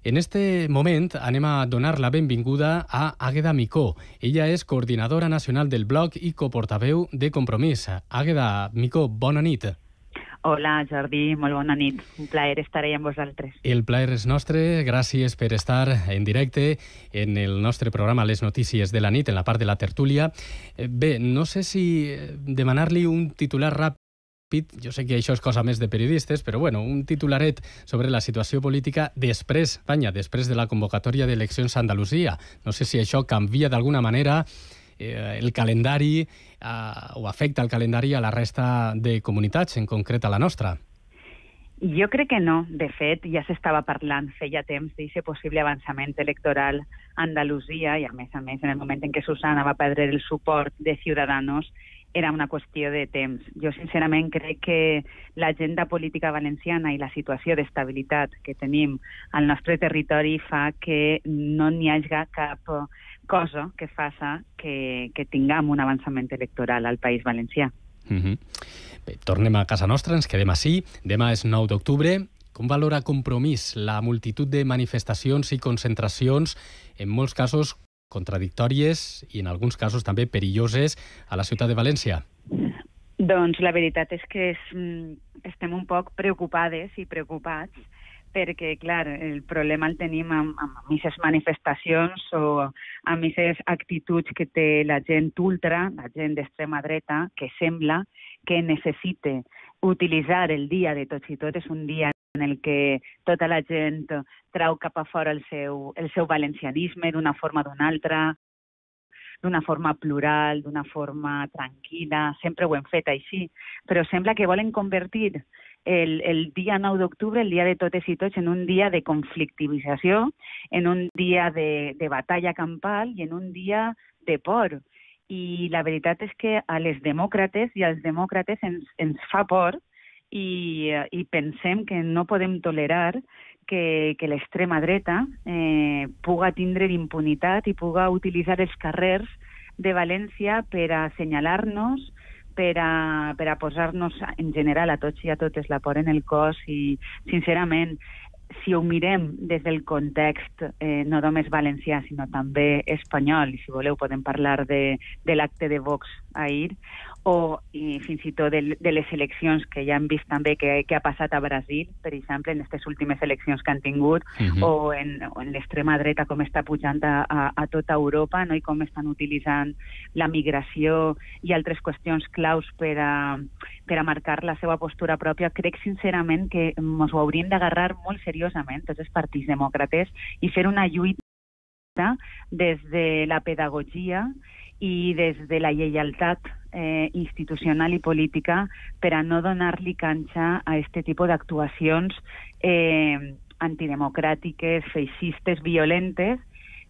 En este moment anem a donar la benvinguda a Àgueda Micó. Ella és coordinadora nacional del blog i coportaveu de Compromís. Àgueda Micó, bona nit. Hola, Jordi, molt bona nit. Un plaer estar ahí amb vosaltres. El plaer és nostre. Gràcies per estar en directe en el nostre programa Les Notícies de la nit, en la part de la tertúlia. Bé, no sé si demanar-li un titular ràpid. Jo sé que això és cosa més de periodistes, però bueno, un titularet sobre la situació política després de la convocatòria d'eleccions a Andalusia. No sé si això canvia d'alguna manera el calendari o afecta el calendari a la resta de comunitats, en concret a la nostra. Jo crec que no. De fet, ja s'estava parlant feia temps d'aquest possible avançament electoral a Andalusia i, a més, en el moment en què Susana va perdre el suport de Ciudadanos, era una qüestió de temps. Jo, sincerament, crec que l'agenda política valenciana i la situació d'estabilitat que tenim al nostre territori fa que no n'hi hagi cap cosa que faça que tinguem un avançament electoral al País Valencià. Bé, tornem a casa nostra, ens quedem ací. Demà és 9 d'octubre. Com valora Compromís la multitud de manifestacions i concentracions, en molts casos contradictòries i en alguns casos també perilloses a la ciutat de València? Doncs la veritat és que estem un poc preocupades i preocupats perquè, clar, el problema el tenim amb aquestes manifestacions o amb aquestes actituds que té la gent ultra, la gent d'extrema dreta, que sembla que necessita utilitzar el dia de tots i totes, un dia en el que tota la gent trau cap a fora el seu valencianisme d'una forma o d'una altra, d'una forma plural, d'una forma tranquil·la. Sempre ho hem fet així, però sembla que volen convertir el dia 9 d'octubre, el dia de totes i tots, en un dia de conflictivització, en un dia de batalla campal i en un dia de por. I la veritat és que a les demòcrates i als demòcrates ens fa por i pensem que no podem tolerar que l'extrema dreta puga tindre impunitat i puga utilitzar els carrers de València per a assenyalar-nos, per a posar-nos en general a tots i a totes la por en el cos i, sincerament, si ho mirem des del context no només valencià, sinó també espanyol, i si voleu podem parlar de l'acte de Vox ahir, i fins i tot de les eleccions que ja hem vist també que ha passat a Brasil, per exemple, en aquestes últimes eleccions que han tingut, o en l'extrema dreta com està pujant a tota Europa, no? I com estan utilitzant la migració i altres qüestions claus per a marcar la seva postura pròpia. Crec sincerament que ens ho hauríem d'agarrar molt seriosament tots els partits demòcrates i fer una lluita des de la pedagogia i des de la lleialtat institucional i política per a no donar-li canxa a aquest tipus d'actuacions antidemocràtiques, feixistes, violentes,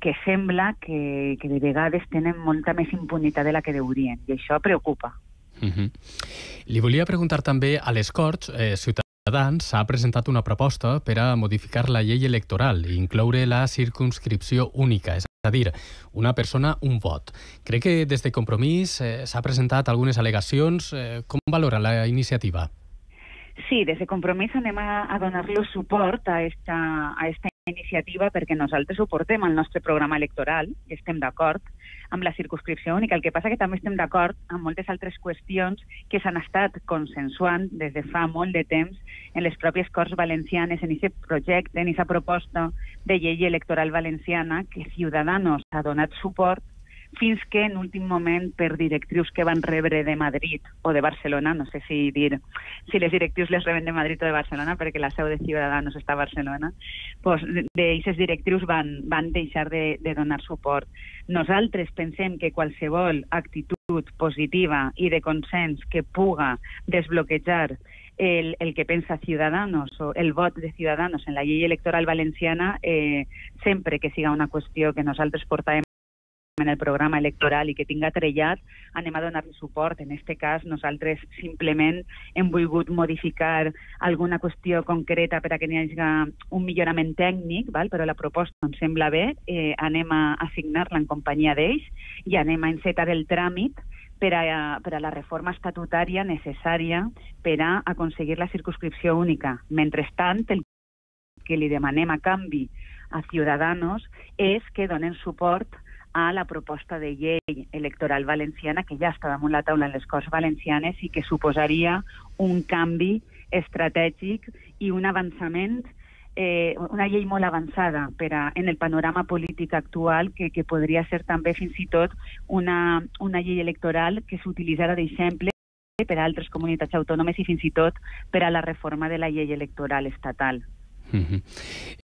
que sembla que de vegades tenen molta més impunitat de la que deurien, i això preocupa. Li volia preguntar també a les Corts, Ciutadans ha presentat una proposta per a modificar la llei electoral i incloure la circumscripció única, és a dir, una persona, un vot. Crec que des de Compromís s'ha presentat algunes al·legacions. Com valora la iniciativa? Sí, des de Compromís anem a donar-li suport a esta iniciativa perquè nosaltres ho portem al nostre programa electoral i estem d'acord amb la circumscripció única. El que passa que també estem d'acord amb moltes altres qüestions que s'han estat consensuant des de fa molt de temps en les pròpies Corts Valencianes, en aquest projecte, en aquesta proposta de llei electoral valenciana que Ciudadanos ha donat suport fins que en últim moment, per directrius que van rebre de Madrid o de Barcelona, no sé si les directrius les reben de Madrid o de Barcelona, perquè la seu de Ciudadanos està a Barcelona, doncs d'aquestes directrius van deixar de donar suport. Nosaltres pensem que qualsevol actitud positiva i de consens que puga desbloquejar el que pensa Ciudadanos o el vot de Ciudadanos en la llei electoral valenciana, sempre que siga una qüestió que nosaltres portàvem en el programa electoral i que tinga trellat, anem a donar-li suport. En aquest cas, nosaltres simplement hem volgut modificar alguna qüestió concreta per a que n'hi hagi un millorament tècnic, però la proposta ens sembla bé, anem a signar-la en companyia d'ells i anem a encetar el tràmit per a la reforma estatutària necessària per a aconseguir la circumscripció única. Mentrestant, el que li demanem a canvi a Ciudadanos és que donen suport a la proposta de llei electoral valenciana que ja està damunt la taula en les Corts Valencianes i que suposaria un canvi estratègic i un avançament, una llei molt avançada en el panorama polític actual que podria ser també fins i tot una llei electoral que s'utilitzarà d'exemple per a altres comunitats autònomes i fins i tot per a la reforma de la llei electoral estatal.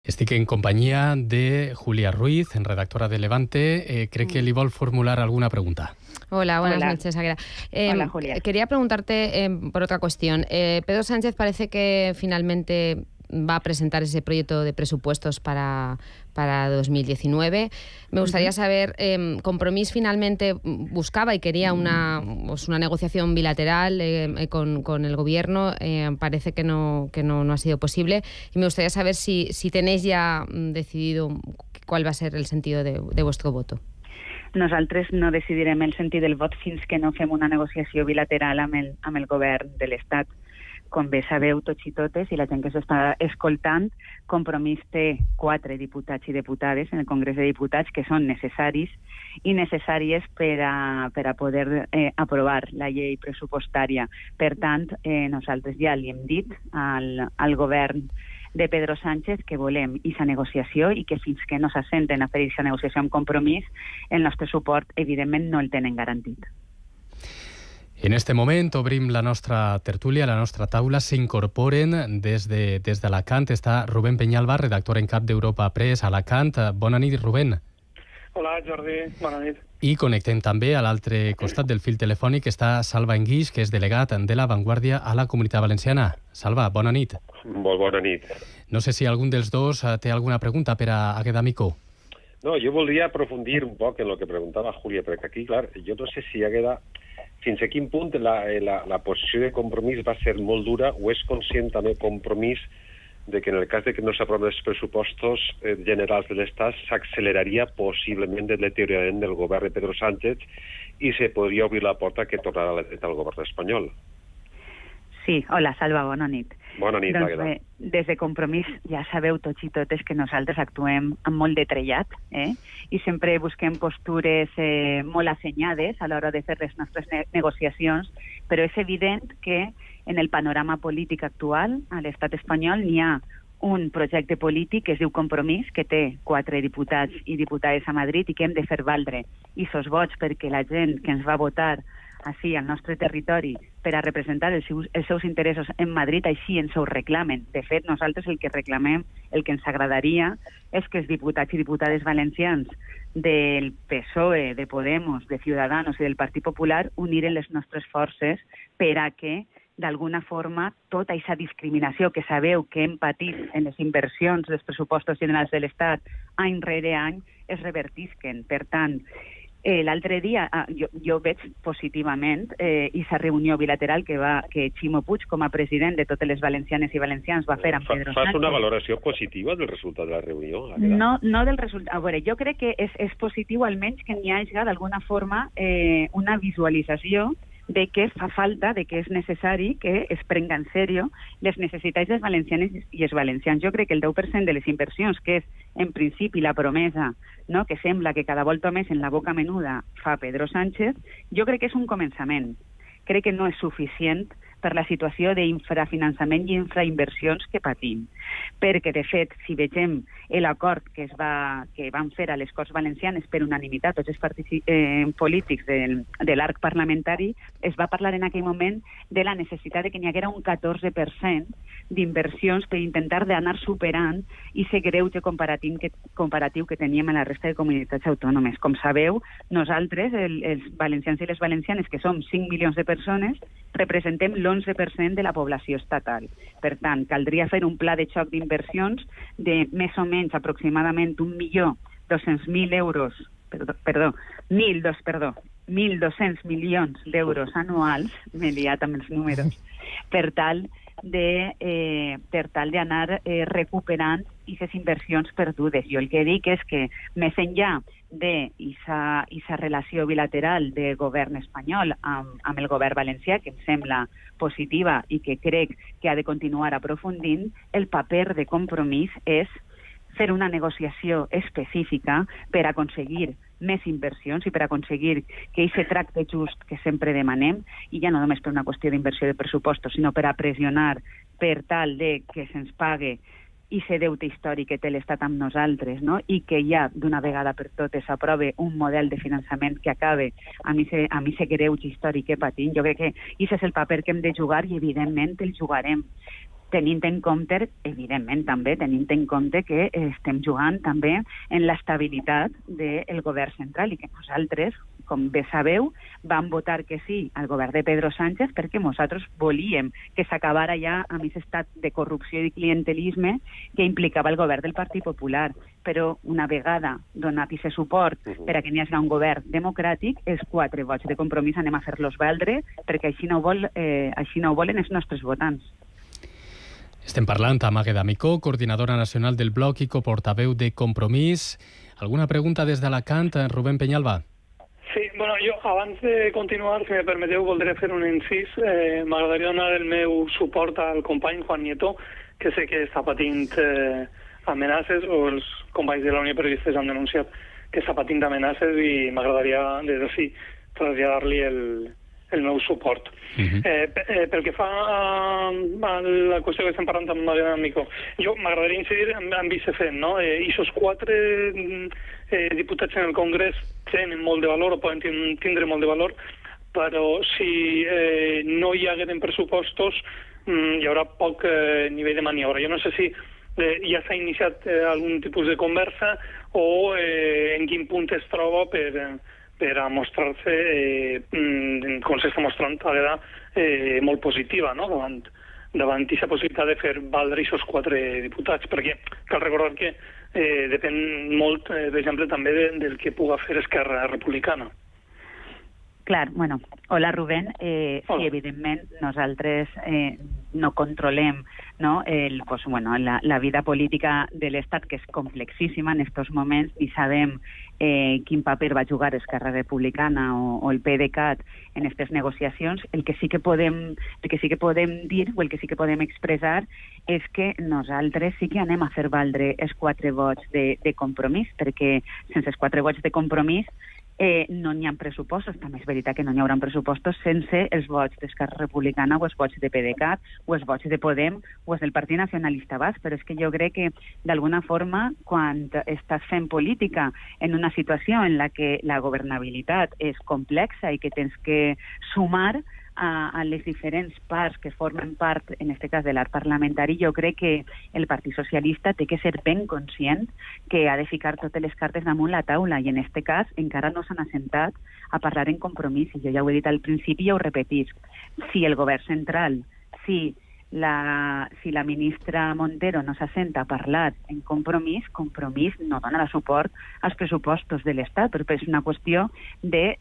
Estic en companyia de Julia Ruiz, redactora de Levante. Crec que li vol formular alguna pregunta. Hola, buenas noches, Águeda. Hola, Julia. Quería preguntarte por otra cuestión. Pedro Sánchez parece que finalmente va a presentar ese proyecto de presupuestos para 2019. Me gustaría saber, Compromís finalmente buscaba y quería una negociación bilateral con el Gobierno. Parece que no ha sido posible. Y me gustaría saber si tenéis ya decidido cuál va a ser el sentido de vuestro voto. Nosaltres no decidirem el sentit del vot fins que no fem una negociació bilateral amb el govern de l'Estat. Com bé sabeu tots i totes, i la gent que s'està escoltant, Compromís té 4 diputats i diputades en el Congrés de Diputats que són necessaris i necessàries per a poder aprovar la llei pressupostària. Per tant, nosaltres ja li hem dit al govern de Pedro Sánchez que volem aquesta negociació i que fins que no s'assenten a fer aquesta negociació amb Compromís, el nostre suport, evidentment, no el tenen garantit. En este moment obrim la nostra tertúlia, la nostra taula. S'incorporen des d'Alacant. Està Rubén Peñalba, redactor en cap d'Europa Press, Alacant. Bona nit, Rubén. Hola, Jordi. Bona nit. I connectem també a l'altre costat del fil telefònic està Salva Enguix, que és delegat de La Vanguardia a la Comunitat Valenciana. Salva, bona nit. Molt bona nit. No sé si algun dels dos té alguna pregunta per a Águeda Micó. No, jo voldria aprofundir un poc en el que preguntava Júlia, perquè aquí, clar, jo no sé si Águeda fins a quin punt la posició de Compromís va ser molt dura o és conscient també Compromís de que en el cas de que no s'aproven els pressupostos generals de l'Estat s'acceleraria possiblement el deteriorament del govern de Pedro Sánchez i se podria obrir la porta que tornarà a la dreta al govern espanyol. Sí, hola, Salva, bona nit. Bona nit, Águeda. Doncs bé, des de Compromís ja sabeu tots i totes que nosaltres actuem amb molt de trellat, i sempre busquem postures molt assenyades a l'hora de fer les nostres negociacions, però és evident que en el panorama polític actual a l'estat espanyol n'hi ha un projecte polític que es diu Compromís, que té 4 diputats i diputades a Madrid i que hem de fer valdre aquests vots perquè la gent que ens va votar així al nostre territori per a representar els seus interessos en Madrid així ens ho reclamen. De fet, nosaltres el que reclamem, el que ens agradaria és que els diputats i diputades valencians del PSOE, de Podemos, de Ciudadanos i del Partit Popular uniren les nostres forces per a que d'alguna forma tota aquesta discriminació que sabeu que hem patit en les inversions dels pressupostos generals de l'Estat any rere any es revertisquen. Per tant, l'altre dia jo veig positivament aquesta reunió bilateral que Ximo Puig, com a president de totes les valencianes i valencians, va fer amb Pedro Sánchez. Fas una valoració positiva del resultat de la reunió? No del resultat. A veure, jo crec que és positiu almenys que n'hi hagi d'alguna forma una visualització de que fa falta, de que és necessari que es prenga en sèrio les necessitats dels valencianes i els valencians. Jo crec que el 10% de les inversions, que és en principi la promesa, no, que sembla que cada volta més en la boca menuda fa Pedro Sánchez, jo crec que és un començament. Crec que no és suficient per la situació d'infrafinançament i infrainversions que patim. Perquè, de fet, si vegem l'acord que van fer a les Corts Valencianes per unanimitat tots els partits polítics de l'arc parlamentari, es va parlar en aquell moment de la necessitat de que n'hi haguera un 14% d'inversions per intentar d'anar superant aquest greuge comparatiu que teníem a la resta de comunitats autònomes. Com sabeu, nosaltres, els valencians i les valencianes, que som 5 milions de persones, representem l'11% de la població estatal. Per tant, caldria fer un pla de xoc d'inversions de més o menys aproximadament 1.200.000 euros, 1.200 milions d'euros anuals, m'he liat amb els números, per tal d'anar recuperant aquestes inversions perdudes. Jo el que dic és que més enllà d'aquesta relació bilateral del govern espanyol amb el govern valencià, que em sembla positiva i que crec que ha de continuar aprofundint, el paper de Compromís és fer una negociació específica per aconseguir més inversions i per aconseguir que aquest tracte just que sempre demanem, i ja no només per una qüestió d'inversió de pressupostos, sinó per a pressionar per tal de que se'ns pague i ser deute històric que té l'Estat amb nosaltres, no? I que ja d'una vegada per totes s'aprove un model de finançament que acabe amb aquest greuge històric que patim. Jo crec que aquest és el paper que hem de jugar i evidentment el jugarem. Tenint en compte, evidentment també, tenint en compte que estem jugant també en l'estabilitat del govern central i que nosaltres, com bé sabeu, vam votar que sí al govern de Pedro Sánchez perquè nosaltres volíem que s'acabara ja amb aquest estat de corrupció i clientelisme que implicava el govern del Partit Popular. Però una vegada donat aquest suport per a que n'hi hagi un govern democràtic, els 4 vots de Compromís anem a fer-los valdre perquè així no ho volen els nostres votants. Estem parlant amb Àgueda Micó, coordinadora nacional del Bloc i coportaveu de Compromís. Alguna pregunta des d'Alacant, Rubén Peñalba? Sí, bueno, jo abans de continuar, si me permeteu, voldré fer un incís. M'agradaria donar el meu suport al company Juan Nieto, que sé que està patint amenaces, o els companys de la Unió de Periodistes han denunciat que està patint amenaces i m'agradaria des d'ací traslladar-li el meu suport. Pel que fa a la qüestió que estem parlant amb Àgueda Micó, jo m'agradaria incidir en aquest fet, no? I aquests 4 diputats en el Congrés tenen molt de valor o poden tindre molt de valor, però si no hi hagueren pressupostos hi haurà poc nivell de maniobra. Jo no sé si ja s'ha iniciat algun tipus de conversa o en quin punt es troba per a mostrar-se, com s'està mostrant, Àgueda, molt positiva, no?, davant aquesta possibilitat de fer valdre aquests 4 diputats, perquè cal recordar que depèn molt, per exemple, també del que puga fer Esquerra Republicana. Clar, bueno, hola Rubén. Sí, evidentment, nosaltres no controlem, no, la vida política de l'Estat, que és complexíssima en aquests moments, i sabem quin paper va jugar Esquerra Republicana o el PDeCAT en aquestes negociacions. El que sí que podem dir o el que sí que podem expressar és que nosaltres sí que anem a fer valdre els 4 vots de Compromís, perquè sense els 4 vots de Compromís no n'hi ha pressupostos. També és veritat que no n'hi haurà pressupostos sense els vots d'Esquerra Republicana o els vots de PDeCAT o els vots de Podem o els del Partit Nacionalista Basc, però és que jo crec que d'alguna forma quan estàs fent política en una situació en la que la governabilitat és complexa i que tens que sumar a les diferents parts que formen part, en aquest cas, de l'art parlamentari, jo crec que el Partit Socialista té que ser ben conscient que ha de ficar totes les cartes damunt la taula i en aquest cas encara no s'han assentat a parlar en Compromís. I jo ja ho he dit al principi i ho repetisc. Si el govern central, si la ministra Montero no s'assenta a parlar en Compromís no donarà suport als pressupostos de l'Estat, però és una qüestió de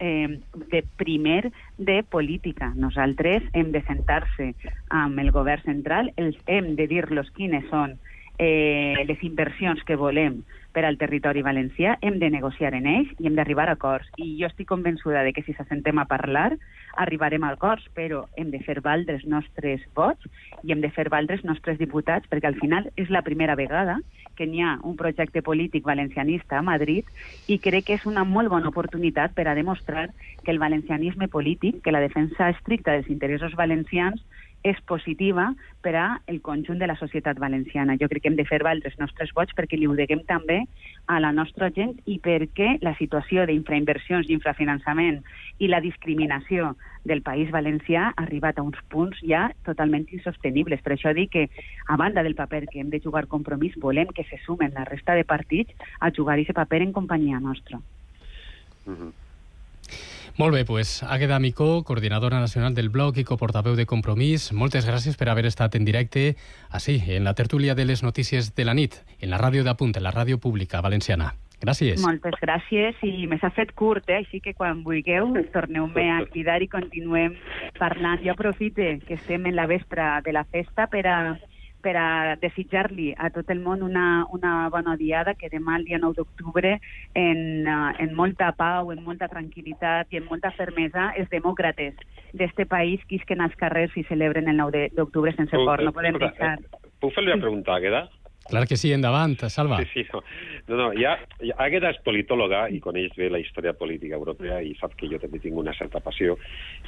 primer de política. Nosaltres hem de sentar-se amb el govern central, hem de dir-los quines són les inversions que volem per al territori valencià, hem de negociar en ells i hem d'arribar a acords. I jo estic convençuda de que si s'assentem a parlar arribarem a acords, però hem de fer valdre els nostres vots i hem de fer valdre els nostres diputats, perquè al final és la primera vegada que n'hi ha un projecte polític valencianista a Madrid i crec que és una molt bona oportunitat per a demostrar que el valencianisme polític, que la defensa estricta dels interessos valencians és positiva per a el conjunt de la societat valenciana. Jo crec que hem de fer valdre els nostres vots perquè li ho deguem també a la nostra gent i perquè la situació d'infrainversions i infrafinançament i la discriminació del País Valencià ha arribat a uns punts ja totalment insostenibles. Per això dic que, a banda del paper que hem de jugar Compromís, volem que se sumen la resta de partits a jugar aquest paper en companyia nostra. Molt bé, doncs Àgueda Micó, coordinadora nacional del Bloc i coportaveu de Compromís, moltes gràcies per haver estat en directe així, en la tertúlia de les notícies de la nit, en la ràdio d'Apunt, en la ràdio pública valenciana. Gràcies. Moltes gràcies i me s'ha fet curt, així que quan vulgueu torneu-me a cridar i continuem parlant. Jo aprofite que estem en la vespra de la festa per a desitjar-li a tot el món una bona diada, que demà, el dia 9 d'octubre, en molta pau, en molta tranquil·litat i en molta fermesa, els demòcrates d'este país quisquen als carrers i celebren el 9 d'octubre sense por. No podem deixar. Puc fer-li una pregunta, Àgueda? Clar que sí, endavant, Salva. Sí, no, Àgueda és politòloga i coneix bé la història política europea i sap que jo també tinc una certa passió.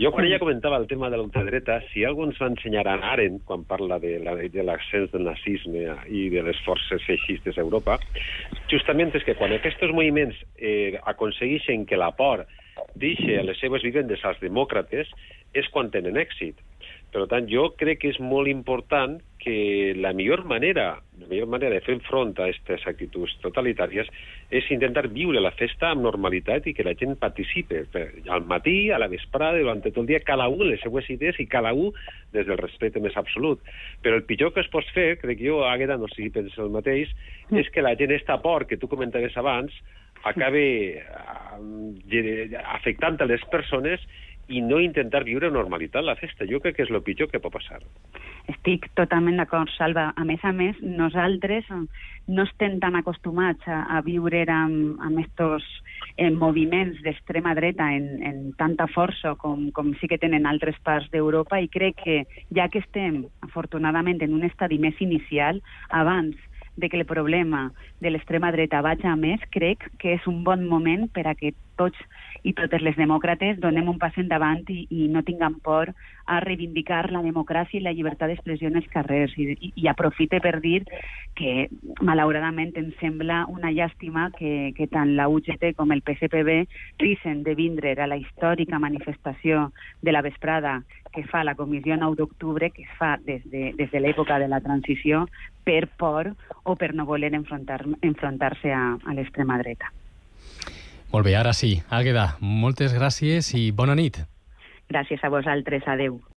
Jo, quan ella comentava el tema de l'ultradreta, si algú ens va ensenyar a Arendt, quan parla de l'ascens del nazisme i de les forces feixistes a Europa, justament és que quan aquests moviments aconsegueixen que la por deixi a les seves vivendes als demòcrates, és quan tenen èxit. Per tant, jo crec que és molt important que la millor manera de fer front a aquestes actituds totalitàries és intentar viure la festa amb normalitat i que la gent participe al matí, a la vesprada, durant tot el dia, cada un les seues idees i cada un des del respecte més absolut. Però el pitjor que es pot fer, crec jo, Àgueda, no sé si penses el mateix, és que la gent esta por que tu comentaves abans acabe afectant a les persones i no intentar viure normalitat la festa. Jo crec que és el pitjor que pot passar. Estic totalment d'acord, Salva. A més, nosaltres no estem tan acostumats a viure amb estos moviments d'extrema dreta en tanta força com sí que tenen altres parts d'Europa, i crec que, ja que estem, afortunadament, en un estadi més inicial, abans de que el problema de l'extrema dreta vagi a més, crec que és un bon moment per a que tots i totes les demòcrates donem un pas endavant i no tinguem por a reivindicar la democràcia i la llibertat d'expressió en els carrers. I aprofite per dir que, malauradament, em sembla una llàstima que tant la UGT com el PSPB risen de vindre a la històrica manifestació de la vesprada que fa la Comissió 9 d'octubre, que es fa des de l'època de la transició, per por o per no voler enfrontar-se a l'extrema dreta. Molt bé, ara sí. Àgueda, moltes gràcies i bona nit. Gràcies a vosaltres. Adeu.